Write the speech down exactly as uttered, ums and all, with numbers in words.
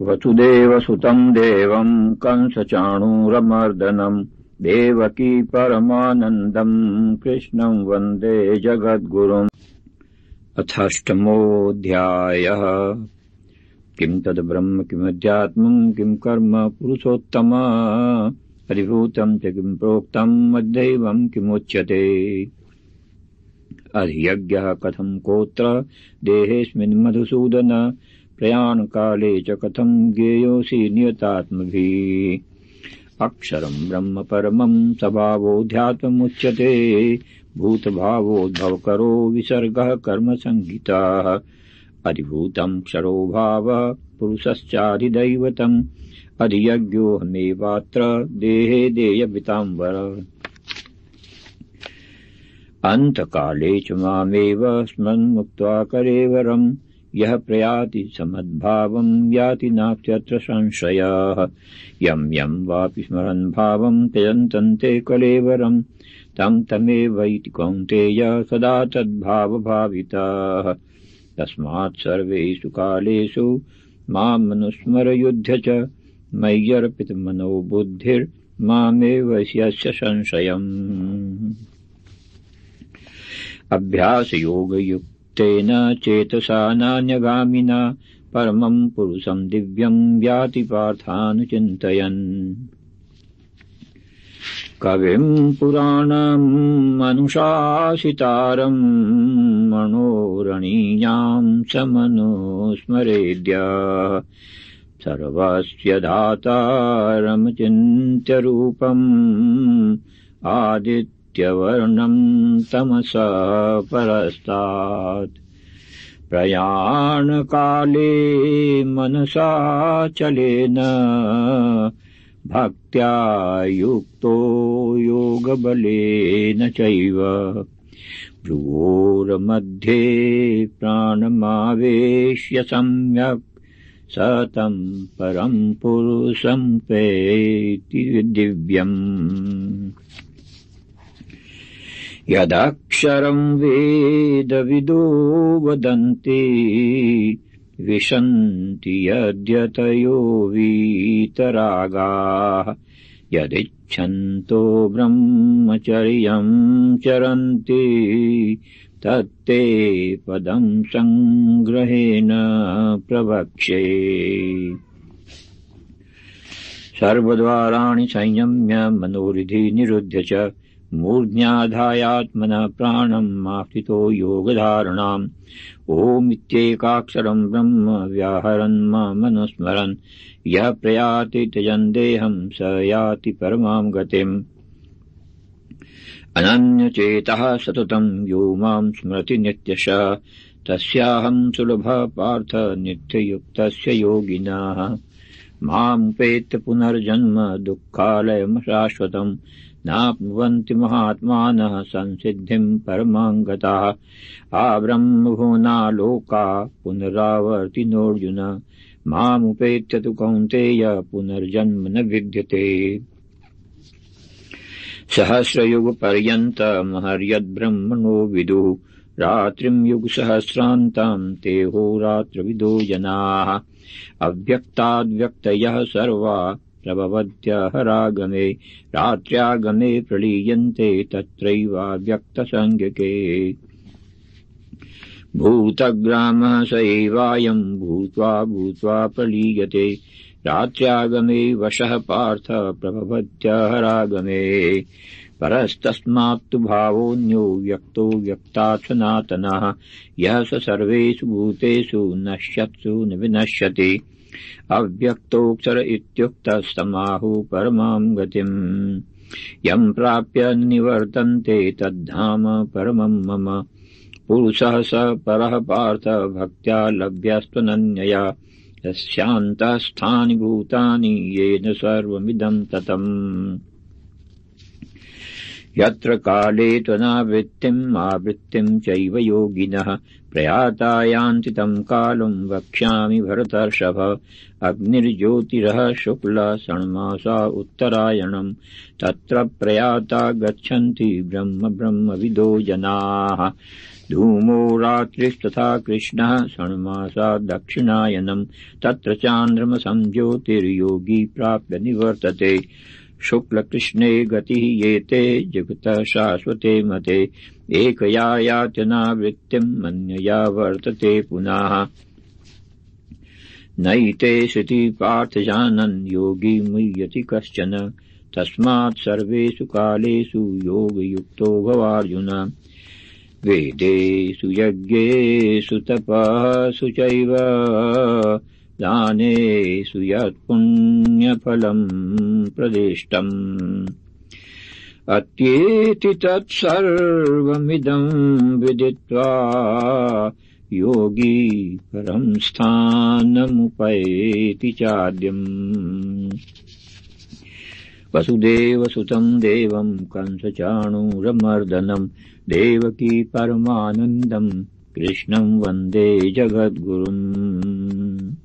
वसुदेवसुतं देवं कंसचाणूरमर्दनं देवकी परमानन्दं कृष्णं वन्दे जगद्गुरुम्। अथाष्टमोऽध्यायः। किं तद्ब्रह्म किमध्यात्मं किं कर्म पुरुषोत्तम अधिभूतं च किं प्रोक्तम् अद्दैवं किमुच्यते। अधियज्ञः कथं कोत्र देहेऽस्मिन् मधुसूदन प्रयाणकाले च कथं ज्ञेयोऽसि नियतात्मभिः। अक्षरं ब्रह्म परमं स्वभावोऽध्यात्ममुच्यते भूतभावोद्भवकरो विसर्गः कर्मसंहिताः। अधिभूतं क्षरो भावः पुरुषश्चाधिदैवतम् अधियज्ञोऽहमेवात्र देहे देयविताम्बर। अन्तकाले च मामेव स्मन्मुक्त्वा कलेवरम् यः प्रयाति समद्भावं याति नास्त्यत्र संशयः। यं यं वापि स्मरन् भावं त्यजन्तन्ते कलेवरं तं तमेवैति कौन्तेय सदा तद्भावभाविताः। तस्मात् सर्वेषु कालेषु मामनुस्मरयुध्य च मय्यर्पितमनो बुद्धिर्मामेव यस्य संशयम्। अभ्यासयोगयुक् तेन चेतसा नान्यगामिना परमं पुरुषं दिव्यं याति पार्थानुचिन्तयन्। कविं पुराणम् अनुशासितारं मनोरणीयां समनुस्मरेद्य सर्वस्य दातारमचिन्त्य रूपम् आदित्यवर्णं तमसा परस्तात्। प्रयाणकाले मनसा चलेन भक्त्या युक्तो योगबलेन चैव भ्रुवोर्मध्ये प्राणमावेश्य सम्यक् सतं परं पुरुषं पेति दिव्यम्। यदक्षरं वेदविदो वदन्ति विशन्ति यद्यतयो वीतरागाः यदिच्छन्तो ब्रह्मचर्यं चरन्ति तत्ते पदं संग्रहेण प्रवक्ष्ये। सर्वद्वाराणि संयम्य मनोरिधि निरुध्य च मूर्ध्याधायात्मनः प्राणम् आस्थितो योगधारणाम् ओमित्येकाक्षरम् ब्रह्म व्याहरन् मामनुस्मरन् यः प्रयाति त्यजन् देहं स याति परमां गतिम्। अनन्यचेतः सततं यो मां स्मरति नित्यशः तस्याहं सुलभः पार्थ नित्ययुक्तस्य योगिनः। मामुपेत्य पुनर्जन्म दुःखालयम् शाश्वतम् नाप्नुवन्ति महात्मानः संसिद्धिं परमां गताः। आब्रह्मभुवना लोका पुनरावर्तिनोऽर्जुन मामुपेत्य तु कौन्तेय पुनर्जन्म न विद्यते। सहस्रयुगपर्यन्तमहर्यद्ब्रह्मणो विदुः रात्रिं युगसहस्रान्तं ते होरात्रविदो जनाः। अव्यक्ताद्व्यक्तयः सर्वा प्रभवत्यहरागमे रात्र्यागमे प्रलीयन्ते तत्रैवाव्यक्तसंज्ञके। भूतग्रामः स एवायं भूत्वा भूत्वा प्रलीयते रात्र्यागमे वशः पार्थ प्रभवत्यहरागमे। परस्तस्मात्तु भावोऽन्यो व्यक्तो व्यक्तात् सनातनः यः स सर्वेषु भूतेषु नश्यत्सु न विनश्यति। अव्यक्तोऽक्षर इत्युक्तस्तमाहुः परमां गतिम् यं प्राप्य निवर्तन्ते तद्धाम परमं मम। पुरुषः स परः पार्थ भक्त्या लभ्यस्त्वनन्यया यस्यान्तःस्थानि भूतानि येन सर्वमिदं ततम्। यत्र काले त्वनावृत्तिम् आवृत्तिं चैव योगिनः प्रयाता यान्ति तं कालं वक्ष्यामि भरतर्षभ। अग्निर्ज्योतिरः शुक्ल षण्मासा उत्तरायणम् तत्र प्रयाता गच्छन्ति ब्रह्म ब्रह्मविदो जनाः। धूमो रात्रिस्तथा कृष्णः षण्मासा दक्षिणायनम् तत्र चान्द्रमसं ज्योतिर्योगी प्राप्य निवर्तते शुक्लकृष्णे गतिः येते जगतः शाश्वते मते एकया यात्यनावृत्तिम् अन्यया वर्तते पुनः नैते श्रुति पार्थ जानन् योगी मुह्यति कश्चन तस्मात् सर्वेषु कालेषु योगयुक्तो भवार्जुन वेदेषु यज्ञेषु तपःसु चैव दानेषु यत्पुण्यफलम् प्रदिष्टम् अत्येति तत्सर्वमिदम् विदित्वा योगी परं स्थानमुपैति चाद्यम् वसुदेवसुतं देवं कंसचाणूरमर्दनं देवकी परमानन्दं कृष्णं वन्दे जगद्गुरुम्।